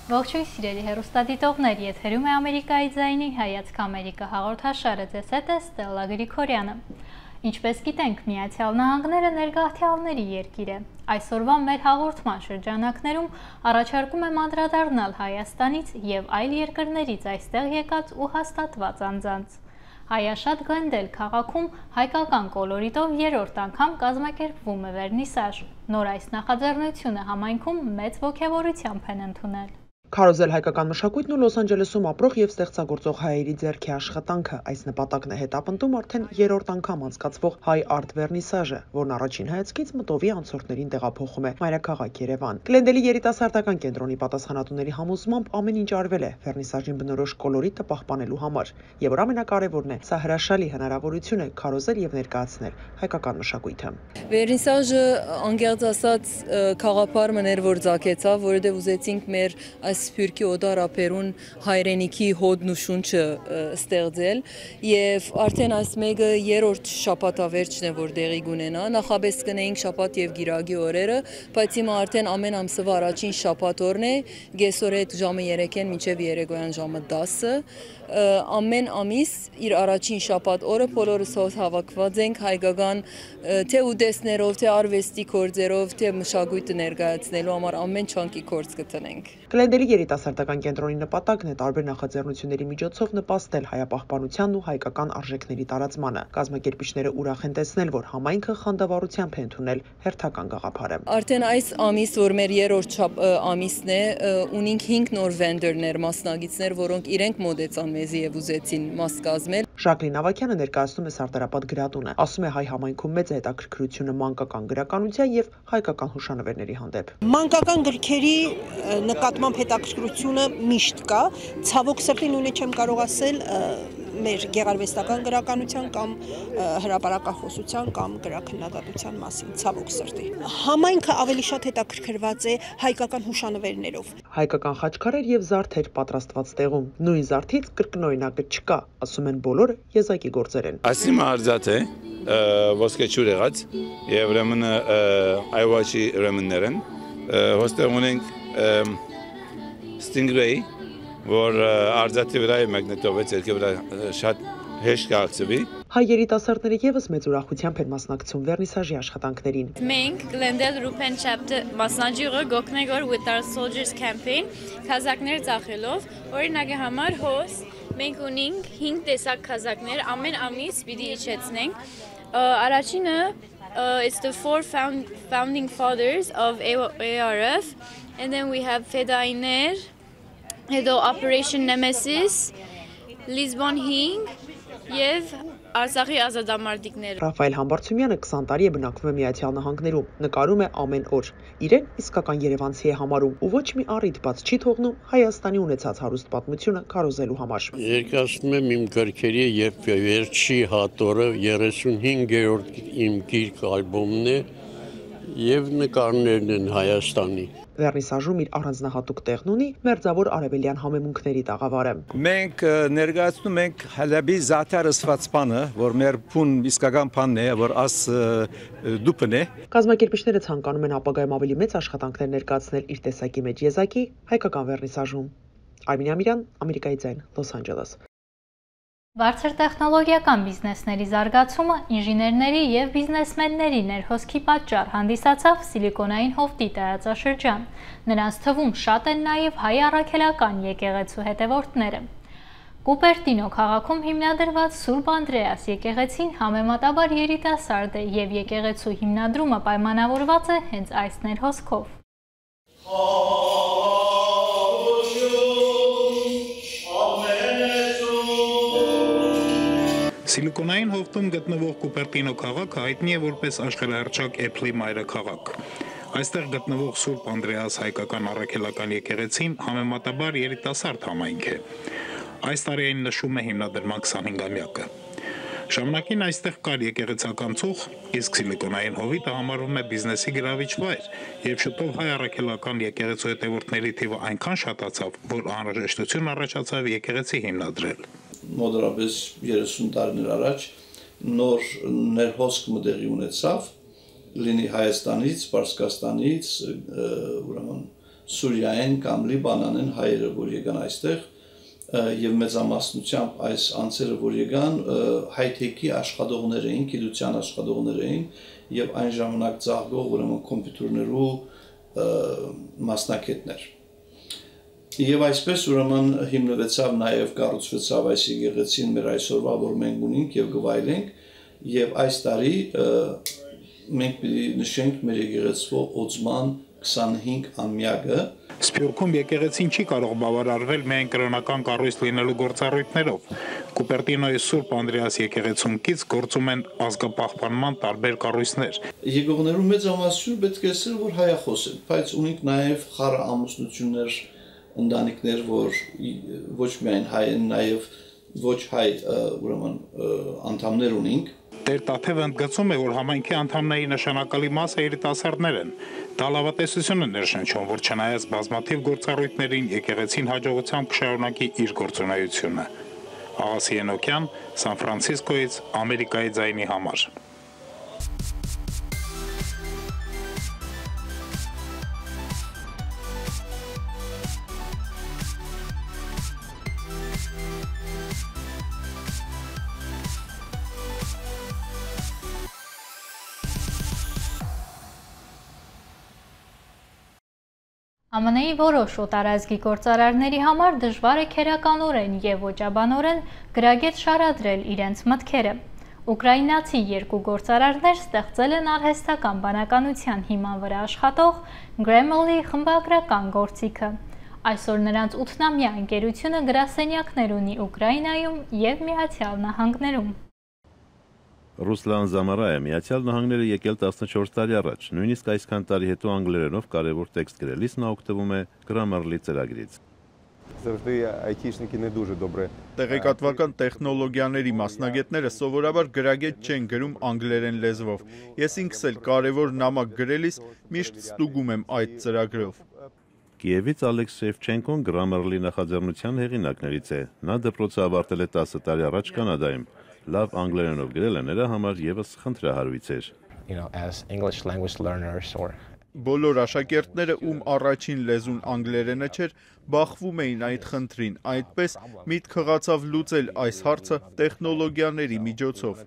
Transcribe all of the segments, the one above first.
Ողջույն սիրելի հեռուստադիտողներ, եթերում է Ամերիկայի ձայնի հայացք Ամերիկա հաղորդաշարը, ձեզ հետ է Ստելլա Գրիգորյանը։ Ինչպես գիտենք, Միացյալ Նահանգները ներգաղթյալների երկիր է։ Այսօրվա մեր հաղորդման շրջանակներում առաջարկում եմ անդրադառնալ Հայաստանից եւ այլ երկրներից այստեղ եկած ու հաստատված անձանց։ Հայաշատ Գլենդել քաղաքում հայկական կոլորիտով երրորդ անգամ կազմակերպվում է վերնիսաժ։ Նոր այս նախաձեռնությունը համայնքում մեծ ոգևորությամբ են ընդունել։ Քարոզել հայկական մշակույթն ու Լոս Անջելեսում ապրող եւ ստեղծագործող հայերի ձեռքի աշխատանքը այս նպատակն է հետապնդում արդեն երրորդ անգամ անցկացվող Հայ Արտ Վերնիսաժը, որն առաջին հայացքից մտովի անցորդներին տեղափոխում է մայրաքաղաք Երևան։ Գլենդելի երիտասարդական կենտրոնի պատասխանատուների համոզմամբ ամեն ինչ արվել է վերնիսաժին բնորոշ կոլորիտը պահպանելու համար, եւ որ ամենակարևորն է, սա հրաշալի հնարավորություն է քարոզել եւ ներկայացնել հայկական մշակույթը։ Վերնիսաժը անկեղծ ասած խաղապարը ներ որ ցակեցավ, որովհետեւ ուզեցինք մեր Սփյուռքի օդարապերուն հայրենիքի հոդն ու շունչը ստեղծել եւ արդեն այս մեկը երրորդ շաբաթավերջն է որ տեղի կունենա նախաբես կնեինք շաբաթ եւ գիրագի օրերը բայց հիմա արդեն ամեն ամսվա առաջին շաբաթ օրն է գեսօր այդ ժամը 3-ին մինչեւ երեկոյան ժամը 10-ը ամեն ամիս իր առաջին շաբաթ օրը բոլորս հավաքված ենք հայկական թե ուտեստներով թե արվեստի գործերով թե մշակույթը ներկայացնելու համար ամեն չանկի գործ կտնենք Գլենդելի երիտասարդական կենտրոնի նպատակն է տարբեր նախաձեռնությունների միջոցով նպաստել հայապահպանությանն ու հայկական արժեքների տարածմանը։ Կազմակերպիչները ուրախ են տեսնել, որ համայնքը խանդավառությամբ է ընդունել հերթական գաղափարը։ Արդեն այս ամիս, որ մեր երրորդ ամիսն է, ունենք 5 նոր վենդերներ, մասնագետներ, որոնք իրենք մոդեցան մեզի եւ ուզեցին մաս կազմել։ Ժակլին Ավակյանը ներկայացնում է Սարտարապատ գրատունը։ Ասում է հայ համայնքում մեծ է հետաքրքրությունը մանկական գրականության եւ հայկական հուշանվերների հանդեպ։ Մանկական գրքերի նկատմամբ հետաքրքրությունը միշտ կա, ցավոք սրտի նույնը չեմ կարող ասել մեր գեղարվեստական գրականության կամ հրապարակախոսության կամ գրաքննադատության մասին, ցավոք սրտի։ Համայնքը ավելի շատ հետաքրքրված է հայկական հուշանվերներով։ Հայկական խաչքարեր եւ զարդեր պատրաստված տեղում։ Նույն զարդից կրկնօրինակը չկա, ասում են բոլորը եզակի գործեր են։ Ասիմը արծաթ է, ոսկեչուր եղած եւ ուրեմն այվաչի ուրեմններ են։ Հոստեղ ունենք Stingray, որ արծաթի վրա է մագնետով երկի վրա շատ հեշտ կարգծվի։ Հայ երիտասարդները եւս մեծ ուրախությամբ են մասնակցում վերնիսաժի աշխատանքներին։ Մենք Glendale Rupen Chapter մասնաճյուղը գոքնենք որ With Our Soldiers campaign քազակներ ծախելով, օրինակի համար հոս մենք ունենք 5 տեսակ քազակներ, ամեն ամիս պիտի իջեցնենք։ Առաջինը it's the 4 founding fathers of ARF and then we have Fedayner, Operation Nemesis, Lisbon Hing եւ Արցախի ազատամարտիկներ։ Ռաֆայել Համբարձումյանը 20 տարի է բնակվում է Միացյալ Նահանգներում, նկարում է ամեն օր։ Իրեն իսկական երևանցի է համարում ու ոչ մի առիթ բաց չի թողնում Հայաստանի ունեցած հարուստ պատմությունը քարոզելու համար։ Երկացնում եմ իմ գրքերի եւ վերջի հատորը 35-րդ իմ գիրք ալբոմն է եւ նկարներն են Հայաստանի։ Վերնիսաժում իր առանձնահատուկ տեղն ունի մերձավոր արևելյան համեմունքների տաղավարը։ Մենք ներկայացնում ենք Հալաբի զաթար ըսվածպանը, որ մեր փուն իսկական բանն է, որ աս դուպն է։ Կազմակերպիչները ցանկանում են ապագայում ավելի մեծ աշխատանքներ ներկայացնել իր տեսակի մեջ եզակի հայկական վերնիսաժում։ Արմին Ամիրյան, Ամերիկայի ձայն, Լոս Անջելես։ Բարձր տեխնոլոգիական բիզնեսների զարգացումը ինժեներների եւ բիզնեսմենների ներհոսքի պատճառ հանդիսացավ Սիլիկոնային հովտի տարածաշրջան։ Նրանց թվում շատ են նաեւ հայ առաքելական եկեղեցու հետևորդները։ Կուպերտինո քաղաքում հիմնադրված Սուրբ Անդրեաս եկեղեցին համեմատաբար երիտասարդ է եւ եկեղեցու հիմնադրումը պայմանավորված է հենց այս ներհոսքով։ Սիլիկոնային հովտում գտնվող Կուպերտինո քաղաքը հայտնի է որպես աշխարհահռչակ Apple-ի մայրաքաղաք։ Այստեղ գտնվող Սուրբ Անդրեաս հայկական առաքելական եկեղեցին համեմատաբար երիտասարդ համայնք է։ Այս տարի այն նշում է հիմնադրման 25-ամյակը։ Ժամանակին այստեղ կար եկեղեցական ծուխ, իսկ Սիլիկոնային հովիտը համարվում է բիզնեսի գրավիչ վայր, եւ շուտով հայ առաքելական եկեղեցու հետևորդների թիվը այնքան շատացավ, որ անհրաժեշտություն առաջացավ եկեղեցի հիմնադրել։ Մոտավորապես 30 տարիներ առաջ նոր ներհոսք մտեղի ունեցավ, լինի Հայաստանից, Պարսկաստանից, ուրեմն Սուրիայեն կամ Լիբանանեն հայերը, որ եկան այստեղ, եւ մեծամասնությամբ այս անձերը, որ եկան, հայ-թեքի աշխատողներ էին, գիտության աշխատողներ էին եւ այն ժամանակ ծաղկող ուրեմն կոմպյուտերներու մասնակիցներ։ Եվ այսպես ուրեմն հիմնվեցավ նաեւ կառուցվեցավ այս եկեղեցին մեր այսօրվա, որ մենք ունենք եւ գվայելենք, եւ այս տարի մենք պիտի նշենք մեր եկեղեցվո օծման 25-ամյակը։ Սփյուռքում եկեղեցին չի կարող բավարարվել միայն կրոնական կառույց լինելու գործառույթներով։ Կուպերտինոյի Սուրբ Անդրեաս եկեղեցում կից գործում են ազգապահպանման տարբեր կառույցներ։ Եկողներու մեծամասնությունը պետք է ասել, որ հայախոս են, բայց ունենք նաև խառը ամուսնություններ, ընտանիքներ, որ ոչ միայն հայ են, նաև ոչ հայ ուրեմն անդամներ ունենք։ Տեր Տաթևը ընդգծում է, որ համայնքի անդամների նշանակալի մասը երիտասարդներ են։ Դա լավատեսություն է ներշնչում, որ չնայած բազմաթիվ գործառույթներին եկեղեցին հաջողությամբ կշարունակի իր գործունեությունը։ Աղասի Ենոքյան, Սան Ֆրանցիսկոից, Ամերիկայի ձայնի համար։ ԱՄՆ-ի որոշ օտարազգի գործարարների համար դժվար է քերականորեն եւ ոճաբանորեն գրագետ շարադրել իրենց մտքերը։ Ուկրաինացի երկու գործարարներ ստեղծել են արհեստական բանականության հիման վրա աշխատող Grammarly խմբագրական գործիքը։ Այսօր նրանց 8-ամյա ընկերությունը գրասենյակներ ունի Ուկրաինայում եւ Միացյալ Նահանգներում։ Ռուսլան Զամարայը Միացյալ Նահանգները եկել 14 տարի առաջ, նույնիսկ այսքան տարի հետո անգլերենով կարևոր տեքստ գրելիս նա օգտվում է Grammarly ծրագրից։ Տեղեկատվական տեխնոլոգիաների մասնագետները սովորաբար գրագետ չեն գրում անգլերեն լեզվով։ Ես ինքս էլ կարևոր նամակ գրելիս միշտ ստուգում եմ այդ ծրագրով։ Կիևից Ալեքս Շևչենկոն Grammarly նախաձեռնության հեղինակներից է։ Նա դպրոցը ավարտել է 10 տարի առաջ Կանադայում։ Լավ անգլերենով գրելը նրա համար եւս խնդրահարույց էր։ Բոլոր աշակերտները, ում առաջին լեզուն անգլերենը չէր, բախվում էին այդ խնդրին, այդպես միտք հղացավ լուծել այս հարցը տեխնոլոգիաների միջոցով։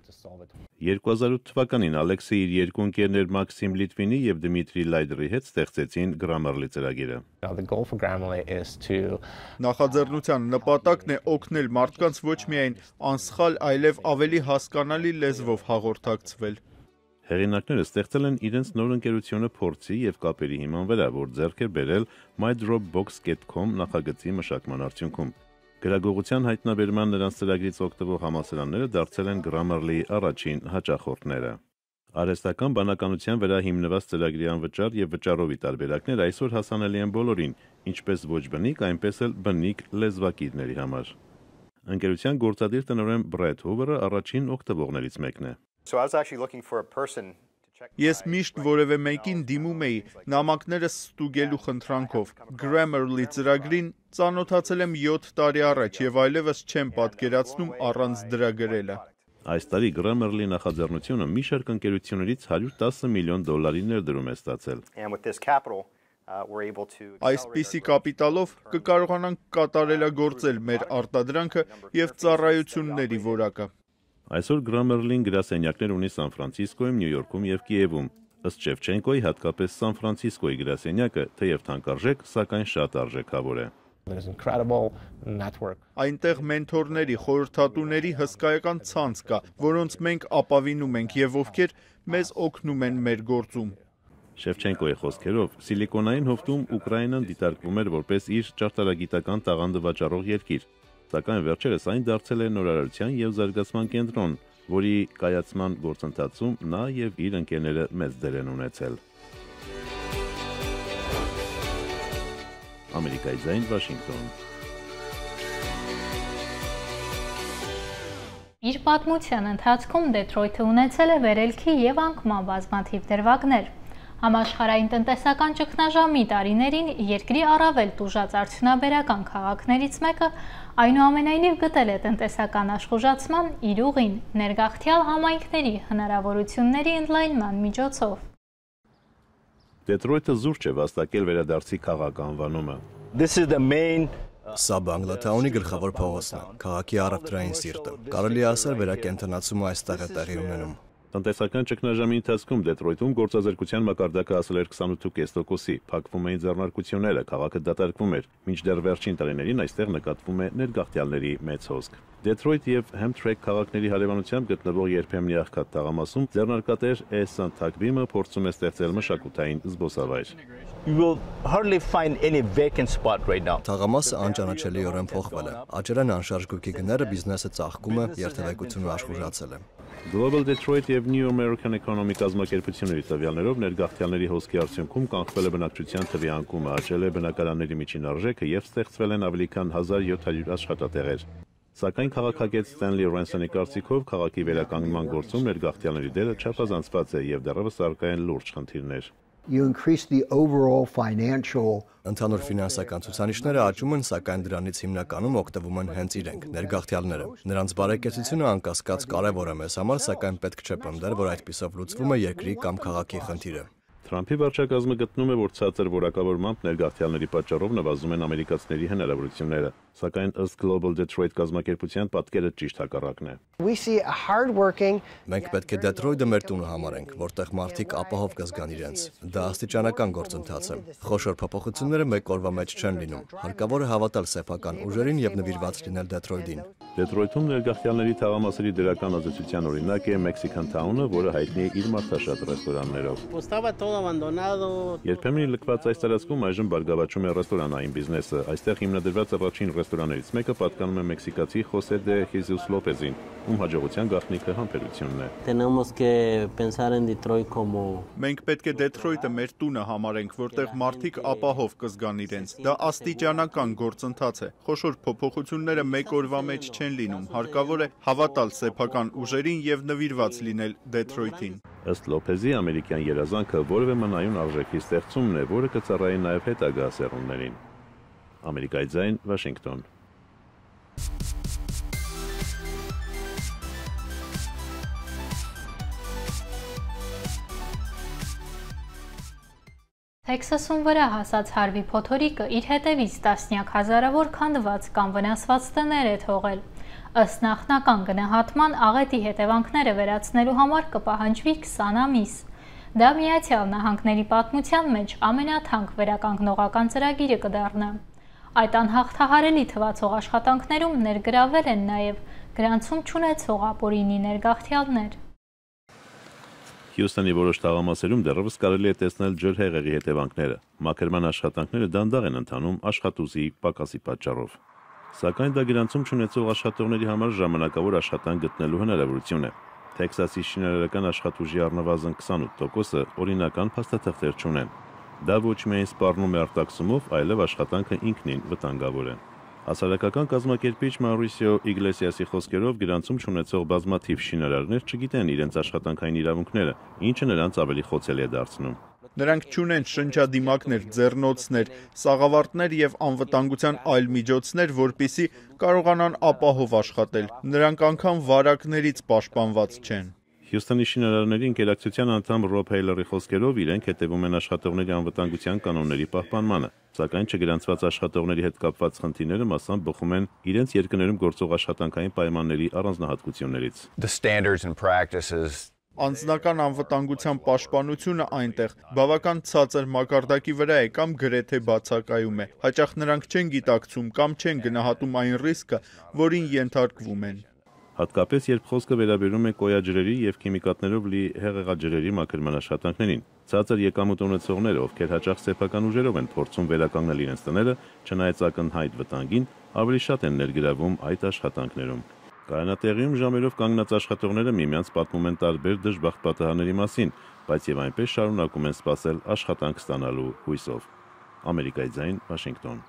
2008 թվականին Ալեքսը իր երկու ընկերներ Մաքսիմ Լիտվինի եւ Դմիտրի Լայդրի հետ ստեղծեցին Grammarly ծրագիրը։ Նախաձեռնության նպատակն է օգնել մարդկանց ոչ միայն անսխալ, այլև ավելի հասկանալի լեզվով հաղորդակցվել։ Հեղինակները ստեղծել են իրենց նոր ընկերությունը փորձի եւ կապերի հիման վրա, որ ձեռք է բերել MyDropbox.com նախագծի մշակման արդյունքում։ Գրագողության հայտնաբերման նրանց ծրագրից օգտվող համալսարանները դարձել են Grammarly-ի առաջին հաճախորդները։ Արհեստական բանականության վրա հիմնված ծրագրի անվճար եւ վճարովի տարբերակներ այսօր հասանելի են բոլորին, ինչպես ոչ բնիկ, այնպես էլ բնիկ լեզվակիրների համար։ Ընկերության գործադիր տնօրեն Բրեդ Հուվերը առաջին օգտվողներից մեկն է։ Ես միշտ որևէ մեկին դիմում էի նամակներս ստուգելու խնդրանքով։ Grammarly ծրագրին ծանոթացել եմ 7 տարի առաջ եւ այլևս չեմ պատկերացնում առանց դրա գրելը։ Այս տարի Grammarly նախաձեռնությունը մի շարք ընկերություններից $110 միլիոն ներդրում է ստացել։ Այսպիսի կապիտալով կկարողանանք կատարելագործել մեր արտադրանքը եւ ծառայությունների որակը։ Այսօր Grammarly-ն գրասենյակներ ունի Սան Ֆրանցիսկոյում, Նյու Յորքում եւ Կիևում։ Ըստ Շևչենկոյի հատկապես Սան Ֆրանցիսկոյի գրասենյակը թեև թանկարժեք, սակայն շատ արժեքավոր է։ Այնտեղ մենթորների, խորհրդատուների հսկայական ցանց կա, որոնց մենք ապավինում ենք եւ ովքեր մեզ օգնում են մեր գործում։ Շևչենկոյի խոսքերով, Սիլիկոնային հովտում Ուկրաինան դիտարկվում էր որպես իր ճարտարագիտական տաղանդը վաճառող երկիր, սակայն վերջերս այն դարձել է նորարարության եւ զարգացման կենտրոն, որի կայացման գործընթացում նա եւ իր ընկերները մեծ դեր են ունեցել։ Ամերիկայի ձայն, Վաշինգտոն։ Իր պատմության ընթացքում Դեթրոյթը ունեցել է վերելքի եւ անկման բազմաթիվ դրվագներ։ Համաշխարհային տնտեսական ճգնաժամի տարիներին երկրի առավել տուժած արդյունաբերական քաղաքներից մեկը այնուամենայնիվ գտել է տնտեսական աշխուժացման իր ուղին ներգաղթյալ համայնքների հնարավորությունների ընդլայնման միջոցով։ Դեթրոյթը զուրջ է վաստակել վերադարձի քաղաք անվանումը։ Սա Բանգլաթաունի գլխավոր փողոցն է, քաղաքի առևտրային սիրտը։ Կարելի է ասել վերակենդանացումը այստեղ է տեղի ունենում։ Տնտեսական ճգնաժամի ընթացքում Դեթրոյթում գործազրկության մակարդակը հասել էր 28%-ի, փակվում էին ձեռնարկությունները, քաղաքը դատարկվում էր, մինչդեռ վերջին տարիներին այստեղ նկատվում է ներգաղթյալների մեծ հոսք։ Դեթրոյթ եւ Հեմթրեք քաղաքների հարևանությամբ գտնվող երբեմնի աղքատ թաղամասում ձեռնարկատեր Էհսան Թաքվիմը փորձում է ստեղծել մշակութային զբոսավայր։ Թաղամասը անճանաչելիորեն փոխվել է։ Աճերան անշարժ գույքի գները բիզնեսը ծաղկում է, երթևեկությունը աշխուժացել է։ Global Detroit եւ New American Economy կազմակերպությունների տվյալներով ներգաղթյալների հոսքի արդյունքում կանխվել է բնակչության թվի անկումը, աճել է բնակարանների միջին արժեքը եւ ստեղծվել են ավելի քան 1700 աշխատատեղեր։ Սակայն քաղաքագետ Ստենլի Ռենսոնի կարծիքով քաղաքի վերականգնման գործում ներգաղթյալների դերը չափազանցված է եւ դեռևս առկա են լուրջ խնդիրներ։ Ընդհանուր ֆինանսական ցուցանիշները աճում են, սակայն դրանից հիմնականում օգտվում են հենց իրենք, ներգաղթյալները։ Նրանց բարեկեցությունը անկասկած կարևոր է մեզ համար, սակայն պետք չէ պնդել, որ այդպիսով լուծվում է երկրի կամ քաղաքի խնդիրը։ Թրամփի վարչակազմը գտնում է, որ ցածր որակավորմամբ ներգաղթյալների պատճառով նվազում են ամերիկացիների հնարավորությունները, սակայն ըստ Global Detroit կազմակերպության պատկերը ճիշտ հակառակն է։ Մենք պետք է Դեթրոյթը մեր տունը համարենք, որտեղ մարդիկ ապահով կզգան իրենց։ Դա աստիճանական գործընթաց է։ Խոշոր փոփոխությունները մեկ օրվա մեջ չեն լինում։ Հարկավոր է հավատալ սեփական ուժերին եւ նվիրված լինել Դեթրոյթին։ Դեթրոյթում ներգաղթյալների թաղամասերի դրական ազդեցության օրինակ է Mexican Town-ը, որը հայտնի է իր մարդաշատ ռեստորաններով։ Երբեմն լքված այս տարածքում այժմ բարգավաճում է ռեստորանային բիզնեսը։ Այստեղ հիմնադրված առաջին ռեստորաններից մեկը պատկանում է մեքսիկացի Խոսե դե Հեզուս Լոպեզին, ում հաջողության գաղտնիքը համբերությունն է։ Մենք պետք է Դեթրոյթը մեր տունը համարենք, որտեղ մարդիկ ապահով կզգան իրենց։ Դա աստիճանական գործընթաց է։ Խոշոր փոփոխությունները մեկ օրվա մեջ չեն լինում։ Հարկավոր է հավատալ սեփական ուժերին եւ նվիրված լինել Դեթրոյթին։ Ըստ Լոպեզի ամերիկյան երազանքը որևէ մնայուն արժեքի ստեղծումն է, որը կծառայի նաև հետագա սերունդներին։ Ամերիկայի ձայն, Վաշինգտոն։ Թեքսասում վրա հասած Հարվի փոթորիկը իր հետևից տասնյակ հազարավոր քանդված կամ վնասված տներ է թողել։ Ըստ նախնական գնահատման աղետի հետևանքները վերացնելու համար կպահանջվի 20 ամիս։ Դա Միացյալ Նահանգների պատմության մեջ ամենաթանկ վերականգնողական ծրագիրը կդառնա։ Այդ անհաղթահարելի թվացող աշխատանքներում ներգրավել են նաև գրանցում չունեցող ապօրինի ներգաղթյալներ։ Հյուսթոնի որոշ թաղամասերում դեռևս կարելի է տեսնել ջրհեղեղի հետևանքները։ Մաքրման աշխատանքները դանդաղ են ընթանում աշխատուժի պակասի պատճառով։ Սակայն դա գրանցում չունեցող աշխատողների համար ժամանակավոր աշխատանք գտնելու հնարավորություն է։ Թեքսասի շինարարական աշխատուժի առնվազն 28%-ը օրինական փաստաթղթեր չունեն։ Դա ոչ միայն սպառնում է արտաքսումով, այլև աշխատանքը ինքնին վտանգավոր է։ Հասարակական կազմակերպիչ Մաուրիսիո Իգլեսիասի խոսքերով գրանցում չունեցող բազմաթիվ շինարարներ չգիտեն իրենց աշխատանքային իրավունքները, ինչը նրանց ավելի խոցելի է դարձնում։ Նրանք չունեն շնչադիմակներ, ձեռնոցներ, սաղավարտներ եւ անվտանգության այլ միջոցներ, որպիսի կարողանան ապահով աշխատել։ Նրանք անգամ վարակներից պաշտպանված չեն։ Հյուսթոնի շինարարների ընկերակցության անդամ Ռոբ Հեյլերի խոսքերով իրենք հետևում են աշխատողների անվտանգության կանոնների պահպանմանը, սակայն չգրանցված աշխատողների հետ կապված խնդիրները մասամբ բխում են իրենց երկրներում գործող աշխատանքային պայմանների առանձնահատկություններից։ Անձնական անվտանգության պաշտպանությունը այնտեղ բավական ցածր մակարդակի վրա է կամ գրեթե բացակայում է։ Հաճախ նրանք չեն գիտակցում կամ չեն գնահատում այն ռիսկը, որին ենթարկվում են։ Հատկապես երբ խոսքը վերաբերում է կոյաջրերի եւ քիմիկատներով լի հեղեղաջրերի մաքրման աշխատանքներին։ Ցածր եկամուտ ունեցողները, ովքեր հաճախ սեփական ուժերով են փորձում վերականգնել իրենց տները, չնայած ակնհայտ վտանգին, ավելի շատ են ներգրավում այդ աշխատանքներում։ Կայանատեղիում ժամերով կանգնած աշխատողները միմյանց պատմում են տարբեր դժբախտ պատահարների մասին, բայց եւ այնպես շարունակում են սպասել աշխատանք ստանալու հույսով։ Ամերիկայի ձայն, Վաշինգտոն։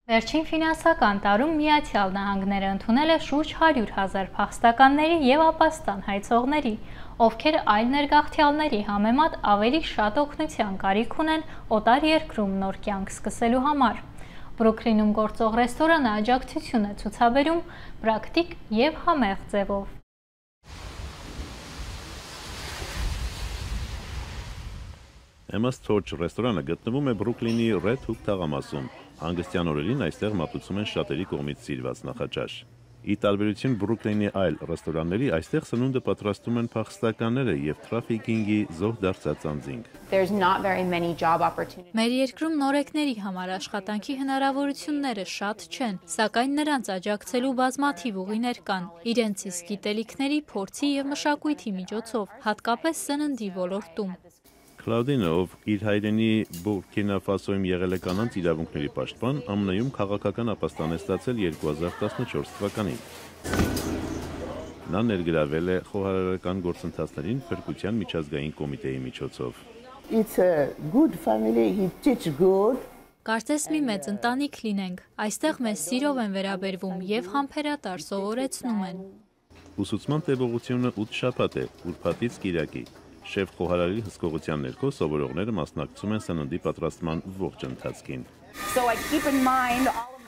Վերջին ֆինանսական տարում Միացյալ Նահանգները ընդունել է շուրջ 100,000 փախստականների եւ ապաստան հայցողների, ովքեր այլ ներգաղթյալների համեմատ ավելի շատ օգնության կարիք ունեն օտար երկրում նոր կյանք սկսելու համար։ Բրուքլինում գործող ռեստորանը աջակցություն է ցուցաբերում պրակտիկ եւ համեղ ձևով։ Emma's Torch ռեստորանը գտնվում է Բրուքլինի Red Hook թաղամասում։ Հանգստյան օրերին այստեղ մատուցում են շատերի կողմից սիրված նախաճաշ։ Ի տարբերություն Բրուքլինի այլ ռեստորանների, այստեղ սնունդը պատրաստում են փախստականները եւ թրաֆիքինգի զոհ դարձած անձինք։ Մեր երկրում նորեկների համար աշխատանքի հնարավորությունները շատ չեն, սակայն նրանց աջակցելու բազմաթիվ ուղիներ կան, իրենց իսկ գիտելիքների, փորձի եւ մշակույթի միջոցով, հատկապես սննդի ոլորտում։ Կլաուդինը, ով իր հայրենի Բուրքինա Ֆասոյում եղել է կանանց իրավունքների պաշտպան, ԱՄՆ-ում քաղաքական ապաստան է ստացել 2014 թվականին։ Նա ներգրավել է խոհարարական գործընթացներին Փրկության միջազգային կոմիտեի միջոցով։ Կարծես մի մեծ ընտանիք լինենք, այստեղ մեզ սիրով են վերաբերվում եւ համբերատար սովորեցնում են։ Ուսուցման տևողությունը 8 շաբաթ է, ուրբաթից կիրակի։ Շեֆ խոհարարի հսկողության ներքո սովորողները մասնակցում են սննդի պատրաստման ողջ ընթացքին։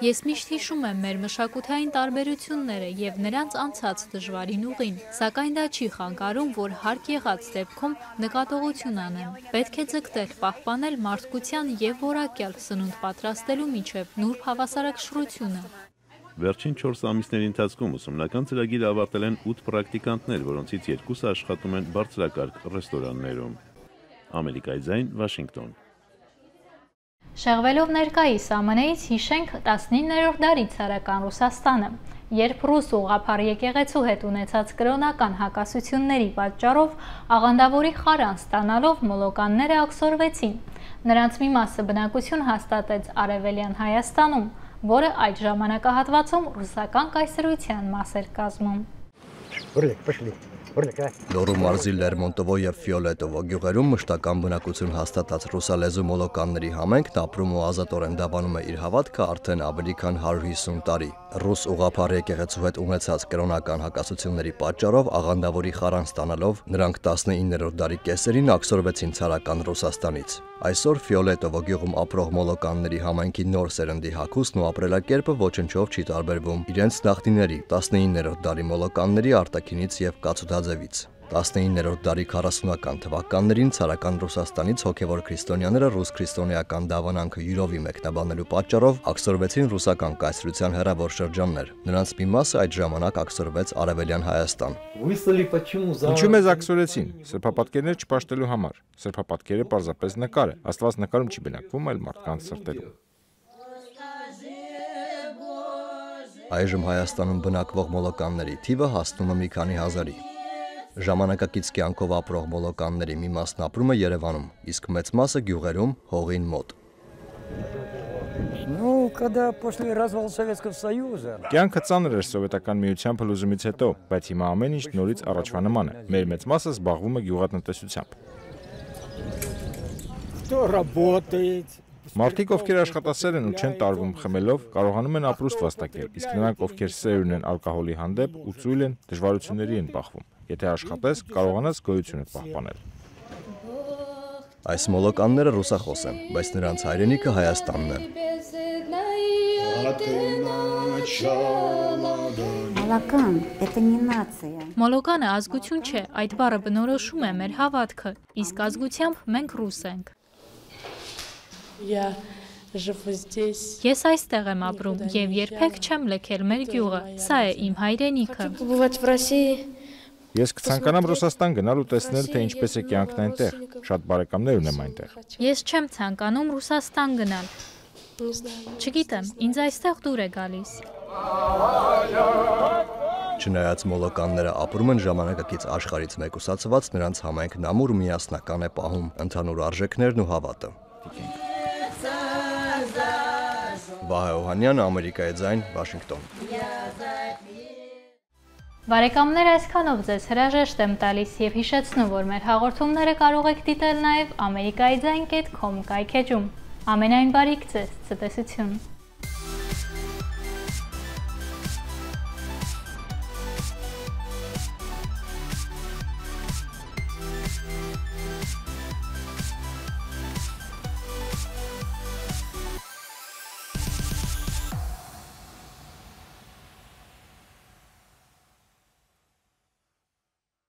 Ես միշտ հիշում եմ մեր մշակութային տարբերությունները եւ նրանց անցած դժվարին ուղին, սակայն դա չի խանգարում, որ հարկ եղած դեպքում նկատողություն անեմ։ Պետք է ձգտել պահպանել մարդկության եւ որակյալ սնունդ պատրաստելու միջև նուրբ հավասարակշռությունը։ Վերջին 4 ամիսների ընթացքում ուսումնական ծրագիրը ավարտել են 8 պրակտիկանտներ, որոնցից 2-ը աշխատում են բարձրակարգ ռեստորաններում։ Ամերիկայի ձայն, Վաշինգտոն։ Շեղվելով ներկայիս ԱՄՆ-ից հիշենք 19-րդ դարի ցարական Ռուսաստանը, երբ ռուս ուղղափառ եկեղեցու հետ ունեցած կրոնական հակասությունների պատճառով աղանդավորի խարան ստանալով մոլոկանները աքսորվեցին։ Նրանց մի մասը բնակություն հաստատեց Արևելյան Հայաստանում, որը այդ ժամանակահատվածում ռուսական կայսրության մաս էր կազմում։ Լոռու մարզի Լերմոնտովո եւ Ֆիոլետովո գյուղերում մշտական բնակություն հաստատած ռուսալեզու մոլոկանների համայնքն ապրում ու ազատորեն դավանում է իր հավատքը արդեն ավելի քան 150 տարի։ Ռուս ուղղափառ եկեղեցու հետ ունեցած կրոնական հակասությունների պատճառով աղանդավորի խարան ստանալով նրանք 19-րդ դարի կեսերին աքսորվեցին ցարական Ռուսաստանից։ Այսօր Ֆիոլետովո գյուղում ապրող մոլոկանների համայնքի նոր սերնդի հագուստն ու ապրելակերպը ոչնչով չի տարբերվում իրենց նախնիների 19-րդ դարի մոլոկանների արտաքինից եւ կացութաձևից։ 19-րդ դարի 40-ական թվականներին ցարական Ռուսաստանից հոգևոր քրիստոնյաները ռուս քրիստոնեական դավանանքը յուրովի մեկնաբանելու պատճառով աքսորվեցին ռուսական կայսրության հեռավոր շրջաններ։ Նրանց մի մասը այդ ժամանակ աքսորվեց Արևելյան Հայաստան։ Ինչու մեզ աքսորեցին։ Սրբապատկերներ չպաշտելու համար։ Սրբապատկերը պարզապես նկար է։ Աստված նկարում չի բնակվում, այլ մարդկանց սրտերում։ Այժմ Հայաստանում բնակվող մոլոկանների թիվը հասնում է մի քանի հազարի։ Ժամանակակից կյանքով ապրող մոլոկանների մի մասն ապրում է Երևանում, իսկ մեծ մասը գյուղերում, հողին մոտ։ Կյանքը ծանր էր սովետական միության փլուզումից հետո, բայց հիմա ամեն ինչ նորից առաջվա նման է։ Մեր մեծ մասը զբաղվում է գյուղատնտեսությամբ։ Մարդիկ, ովքեր աշխատասեր են ու չեն տարվում խմելով, կարողանում են ապրուստ վաստակել, իսկ նրանք, ովքեր սեր ունեն ալկոհոլի հանդեպ ու ծույլ են, դժվարությունների են բախվում։ Եթե աշխատես, կարողանաս գոյությունդ պահպանել։ Այս մոլոկանները ռուսախոս են, բայց նրանց հայրենիքը Հայաստանն է։ Մոլոկանը ազգություն չէ, այդ բառը բնորոշում է մեր հավատքը, իսկ ազգությամբ մենք ռուս ենք։ Ես այստեղ եմ ապրում եւ երբեք չեմ լքել մեր գյուղը, սա է իմ հայրենիքը։ Ես կցանկանամ Ռուսաստան գնալ ու տեսնել, թե ինչպես է կյանքն այնտեղ։ Շատ բարեկամներ ունեմ այնտեղ։ Ես չեմ ցանկանում Ռուսաստան գնալ։ Չգիտեմ, ինձ այստեղ դուր է գալիս։ Չնայած մոլոկանները ապրում են ժամանակակից աշխարհից մեկուսացված, նրանց համայնքն ամուր միասնական է պահում ընդհանուր արժեքներն ու հավատը։ Վահե Օհանյանը, Ամերիկայի ձայն, Վաշինգտոն։ Բարեկամներ, այսքանով ձեզ հրաժեշտ եմ տալիս եւ հիշեցնում, որ մեր հաղորդումները կարող եք դիտել նաեւ amerikaizain.com կայքեջում։ Ամենայն բարիք ձեզ, ցտեսություն։